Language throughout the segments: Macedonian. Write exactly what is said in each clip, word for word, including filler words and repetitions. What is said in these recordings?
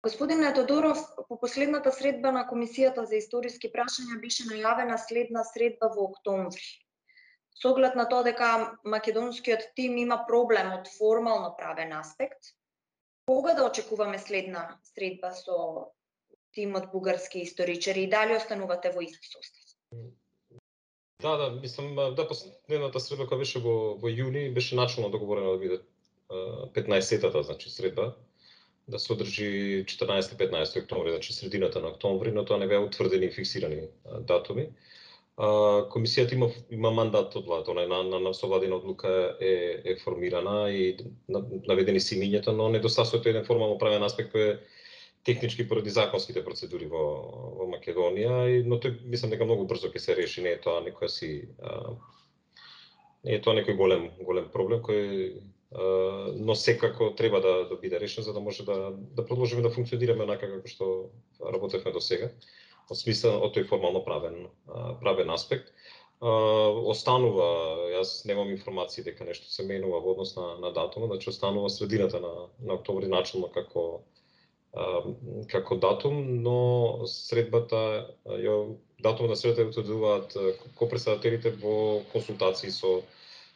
Господине Тодоров, по последната средба на Комисијата за историски прашања беше најавена следна средба во октомври. Со оглед на тоа дека македонскиот тим има проблем од формално правен аспект, кога да очекуваме следна средба со тимот бугарски историчари и дали останувате во ист состав? Да, да, мислам, да, последната средба која беше во, во јуни, беше начално договорено да биде петнаесеттата, значи, средба, да се одржи четрнаесети петнаесети октомври, значи средината на октомври, но тоа не беа утврдени и фиксирани датуми. Комисијата има има мандат од владата, она на на, на совладина одлука е е формирана и наведени се имињата, но недостасува еден формално правен аспект кој е технички поради законските процедури во во Македонија, но тој мислам дека многу брзо ќе се реши, не е тоа некоја си а, не е тоа некој голем голем проблем кој а, но секако треба да да биде решен за да може да да продолжиме да функционираме онака како што работевме до сега. Во смисла од тој формално правен правен аспект. Останува, јас немам информации дека нешто се менува во однос на на датумот, значи останува средината на на октомври начално како како датум, но средбата ја датумот на средбата ја утврдуваат копредседателите во консултации со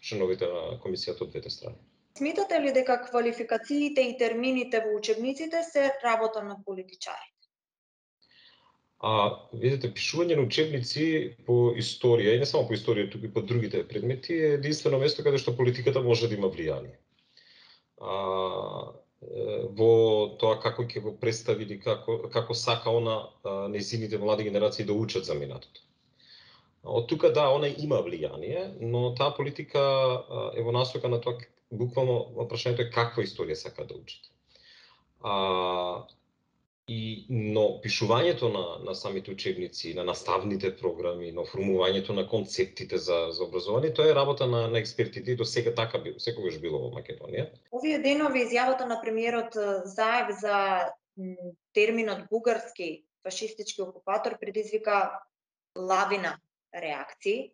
членовите на комисијата од двете страни. Сметате ли дека квалификациите и термините во учебниците се работа на политичарите? А, видите, пишување на учебници по историја, и не само по историја, туку и по другите предмети, е единствено место каде што политиката може да има влијание. А, во тоа како ќе го представи или како, како сака она нејзините млади генерации да учат за минатото. Од тука да, она има влијание, но таа политика е во насока на тоа, буквално прашањето е каква историја сака да учат. А, И, но пишувањето на, на самите учебници, на наставните програми, на формувањето на концептите за, за образование, тоа е работа на, на експертите и до сега така било, секогаш било во Македонија. Овие денови изјавата на премиерот Заев за терминот бугарски фашистички окупатор предизвика лавина реакции.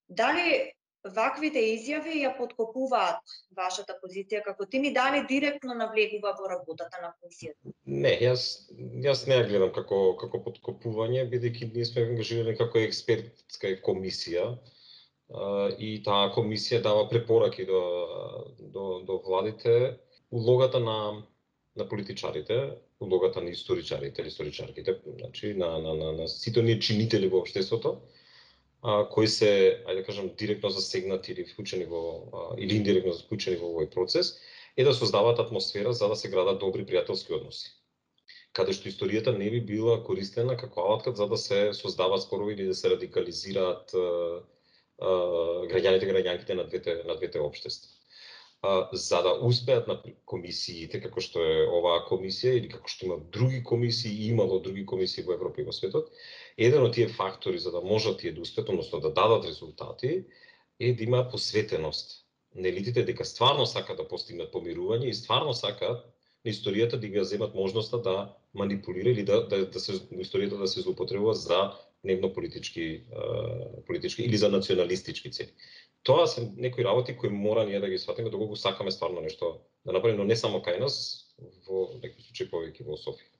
Дали ваквите изјави ја подкопуваат вашата позиција како тим и дали директно навлегува во работата на комисијата? Не, јас јас не ја гледам како како подкопување, бидејќи ние сме ангажирани како експертска комисија и таа комисија дава препораки до до до владите. Улогата на на политичарите, улогата на историчарите или историчарките, значи на на на, на сите ние чинители во општеството, а, кои се, ајде да кажам, директно засегнати или вклучени во а, или индиректно вклучени во овој процес, е да создаваат атмосфера за да се градат добри пријателски односи. Каде што историјата не би била користена како алатка за да се создаваат спорови или да се радикализираат а, а, граѓаните и граѓанките на двете на двете општества. А, за да успеат на комисиите како што е оваа комисија или како што има други комисии и имало други комисии во Европа и во светот, еден од тие фактори за да можат тие да успеат, односно да дадат резултати, е да има посветеност на елитите дека стварно сакаат да постигнат помирување и стварно сакаат на историјата да ги земат можноста да манипулира или да да, да се историјата да се злоупотребува за дневно политички политички или за националистички цели. Тоа се некои работи кои мора ние да ги сватиме доколку сакаме стварно нешто да направиме, но не само кај нас, во некои случаи повеќе во Софија.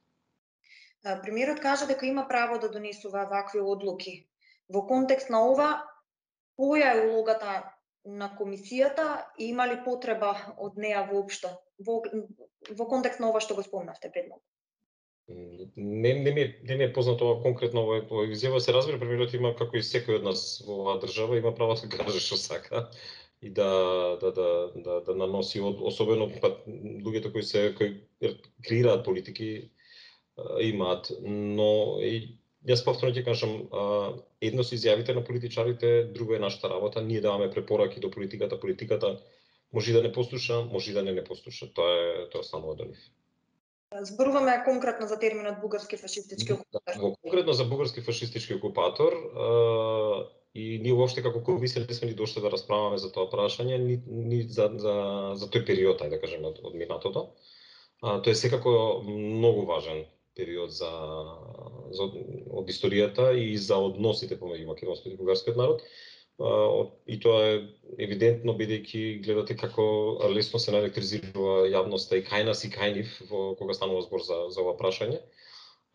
Премиерот кажа дека има право да донесува вакви одлуки. Во контекст на ова, која е улогата на комисијата и има ли потреба од неа воопшто во, во контекст на ова што го спомнавте пред малку? Не, не, ми, не ми е познато ова конкретно ова изјава, се разбира, премиерот има како и секој од нас во оваа држава има право да каже што сака и да да да да, да наноси од, особено па луѓето кои се кои креираат политики имаат, но и јас повторно ќе кажам, едно се изјавите на политичарите, друго е нашата работа, ние даваме препораки до политиката, политиката може да не послуша, може да не не послуша, тоа е тоа останува до нив. Зборуваме конкретно за терминот бугарски фашистички окупатор. Во конкретно за бугарски фашистички окупатор а, и ние воопште како комисија не сме ни дошли да расправаме за тоа прашање, ни, ни за, за, за тој период, ајде да кажеме, од, од минатото. А, тоа е секако многу важен период за, за од историјата и за односите помеѓу македонскиот и бугарскиот народ. и тоа е евидентно бидејќи гледате како лесно се наелектризира јавноста и кај нас и кај нив во кога станува збор за за ова прашање.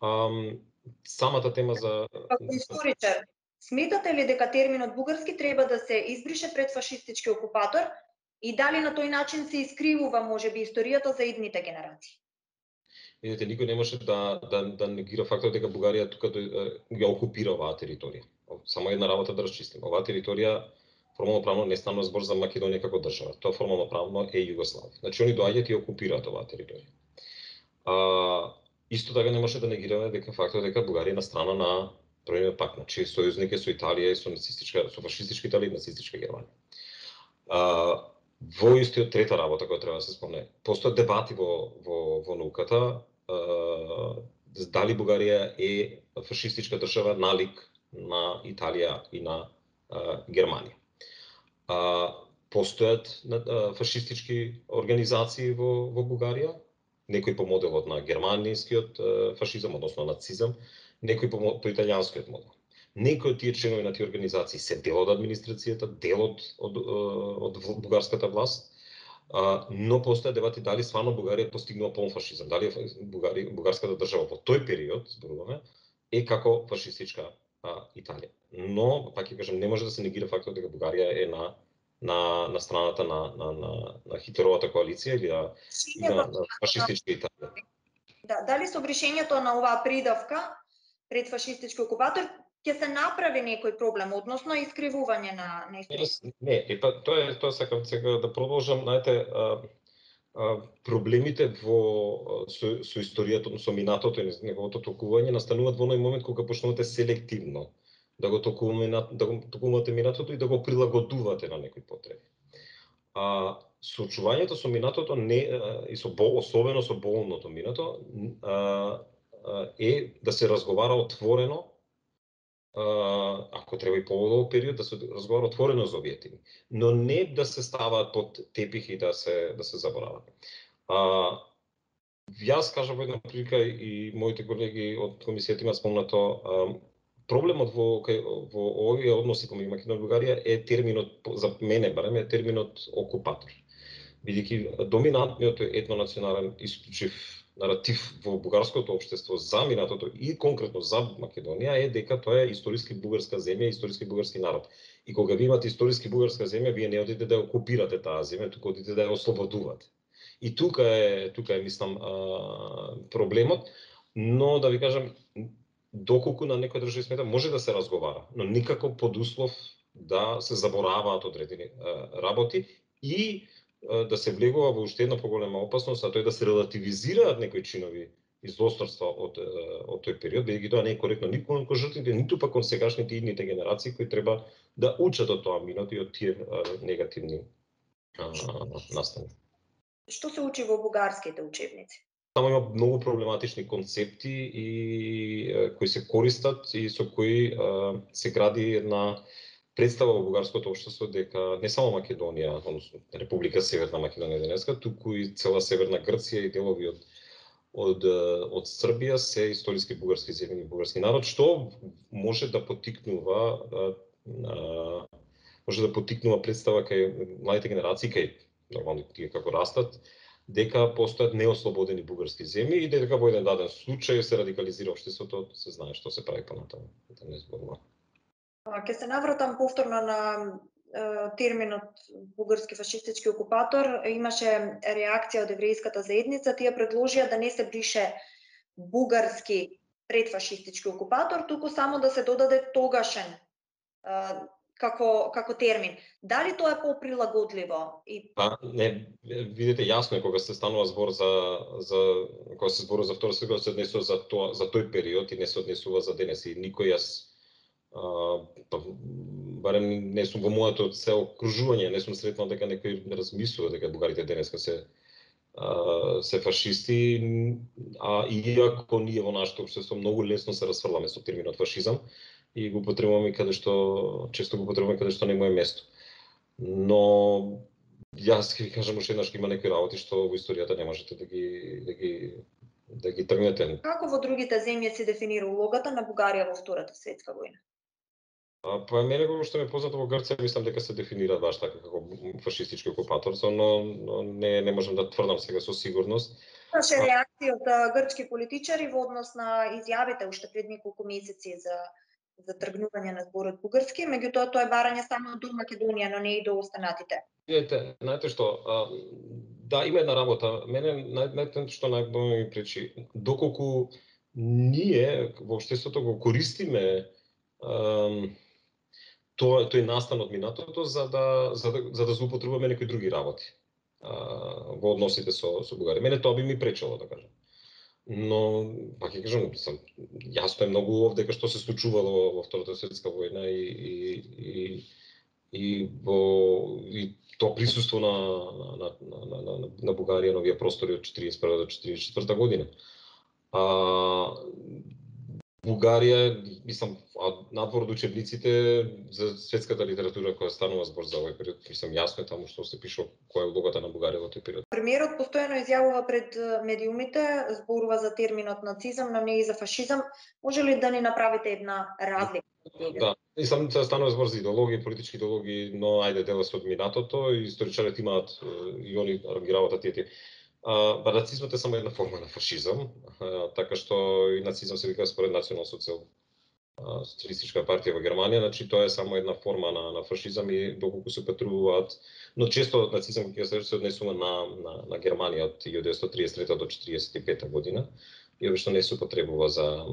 Um, самата тема за... Како историчар, сметате ли дека терминот бугарски треба да се избрише пред фашистички окупатор и дали на тој начин се искривува можеби историјата за идните генерации? Видете, никој не може да да да негира фактот дека Бугарија тука ја окупира оваа територија. Само една работа да расчистиме. Оваа територија формално правно не станува збор за Македонија како држава. Тоа формално правно е Југославија. Значи они доаѓаат и окупираат оваа територија. А, исто така не може да негираме дека фактот дека Бугарија е на страна на Тројниот пакт, значи сојузник е со Италија и со нацистичка, со фашистичка Италија и нацистичка Германија. А, во истиот трета работа која треба да се спомне, постојат дебати во во во науката дали Бугарија е фашистичка држава налик на Италија и на а, Германија. А, постојат а, фашистички организации во во Бугарија, некои по моделот на германискиот а, фашизам, односно нацизам, некои по, по италијанскиот модел. Некои од тие членови на тие организации се дел од администрацијата, дел од од, од бугарската власт, но постојат дебати дали стварно Бугарија постигнува полн фашизам, дали Бугари, бугарската држава во тој период, зборуваме, е како фашистичка а, Италија. Но, пак ќе кажам, не може да се негира фактот дека Бугарија е на на на страната на на на, на Хитлеровата коалиција или на, на, на фашистичка Италија. Да, дали со вршењето на оваа придавка пред фашистички окупатор ќе се направи некој проблем, односно искривување на на историјата? Не, е па тоа е тоа сакам сега да продолжам, знаете, а, а, проблемите во со, со историјата, со минатото и неговото толкување настануваат во оној момент кога почнувате селективно да го толкуваме, да го толкувате минатото и да го прилагодувате на некои потреби. А соочувањето со минатото не и со бол, особено со болното минато, а, а, е да се разговара отворено, а, ако треба и подолг период, да се разговара отворено за овие теми, но не да се ставаат под тепих и да се да се заборават. А, јас кажав во една прилика и моите колеги од комисијата имаат спомнато, а, проблемот во во овие односи помеѓу Македонија и Бугарија е терминот, за мене барем е терминот окупатор. Бидејќи доминантниот етнонационален исклучив наратив во бугарското општество за минатото и конкретно за Македонија е дека тоа е историски бугарска земја, историски бугарски народ. И кога ви имате историски бугарска земја, вие не одите да окупирате таа земја, туку одите да ја ослободувате. И тука е тука е мислам проблемот, но да ви кажам, доколку на некој држави смета може да се разговара, но никако под услов да се забораваат одредени работи и да се влегува во уште една поголема опасност, а тоа е да се релативизираат некои чинови и злосторства од од тој период, бидејќи тоа не е коректно ниту кон жртвите, ниту пак кон сегашните идните генерации кои треба да учат од тоа минато и од тие негативни настани. Што се учи во бугарските учебници? Таму има многу проблематични концепти и кои се користат и со кои се гради една представа во бугарското општество дека не само Македонија, односно Република Северна Македонија денеска, туку и цела Северна Грција и делови од од од Србија се историски бугарски земји и бугарски народ, што може да поттикнува може да поттикнува представа кај младите генерации, кај нормално тие како растат, дека постојат неослободени бугарски земји и дека во еден даден случај се радикализира општеството, се знае што се прави понатаму, да не зборувам. Ќе се навратам повторно на е, терминот бугарски фашистички окупатор. Имаше реакција од еврејската заедница, тие предложија да не се брише бугарски предфашистички окупатор, туку само да се додаде тогашен е, како како термин. Дали тоа е поприлагодливо? И А, не, видите, јасно е кога се станува збор за за кога се зборува за втора светска, се однесува за тоа за тој период и не се однесува за денес и никој јас а, па, барем не сум во моето се окружување, не сум сретнал дека некој размислува дека бугарите денеска се а, се фашисти, а иако ние во нашето општество многу лесно се расфрламе со терминот фашизам и го употребуваме каде што често го употребуваме каде што не му е место. Но јас ќе ви кажам уште еднаш, има некои работи што во историјата не можете да ги да ги да ги тргнете. Како во другите земји се дефинира улогата на Бугарија во Втората светска војна? А, па мене го што ме познато во Грција, мислам дека се дефинира баш така како фашистички окупатор, но, но не не можам да тврдам сега со сигурност. Имаше реакција од грчки политичари во однос на изјавите уште пред неколку месеци за за тргнување на зборот бугарски, меѓутоа тоа е барање само до Македонија, но не и до останатите. Видете, знаете што, а, да, има една работа. Мене најнајтен што најмногу ми пречи, доколку ние во општеството го користиме ам, тоа тој настан од минатото за да за да за да злоупотребуваме некои други работи а, во односите со со Бугарија. Мене тоа би ми пречело, да кажам. Но, па ќе кажам, сам, јасно е многу овде дека што се случувало во Втората светска војна и и и и во и тоа присуство на на на на на, на Бугарија на овие простори од четиридесет и прва до четиридесет и четврта година. А Бугарија, мислам, надвор од учебниците за светската литература која станува збор за овој период, мислам, јасно е таму што се пишува која е улогата на Бугарија во тој период. Премиерот постојано изјавува пред медиумите, зборува за терминот нацизам, но не и за фашизам. Може ли да ни направите една разлика? Да, мислам, се станува збор за идеологија, политички идеологии, но ајде дела се од минатото и историчарите имаат и они ги работат тие тие. А, ба нацизмот е само една форма на фашизам, а, така што и нацизам се вика според Национал социјал социјалистичка партија во Германија, значи тоа е само една форма на на фашизам и доколку се петруваат, но често нацизам ќе се однесува на на на Германија од илјада деветстотини триесет и трета до четиридесет и пета година и обично не се употребува за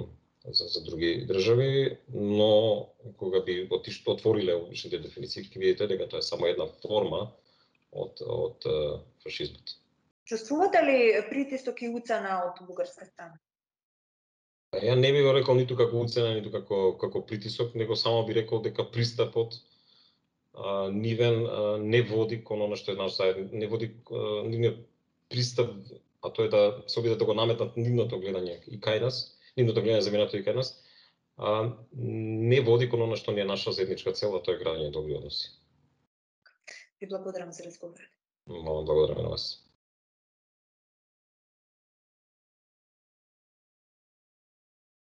за за други држави, но кога би отишло отвориле обичните дефиниции, ќе видите дека тоа е само една форма од од фашизмот. Чувствувате ли притисок и уцена од бугарска страна? Ја не би го рекол ниту како уцена, ниту како како притисок, него само би рекол дека пристапот а, нивен а, не води кон она што е наш заедно, не води а, нивниот пристап, а тоа е да се обидат да го наметнат нивното гледање и кај нас, нивното гледање за минато и кај нас, а, не води кон она што не е наша заедничка цел, а тоа е градење добри односи. Ви благодарам за разговорот. Молам, благодарам на вас.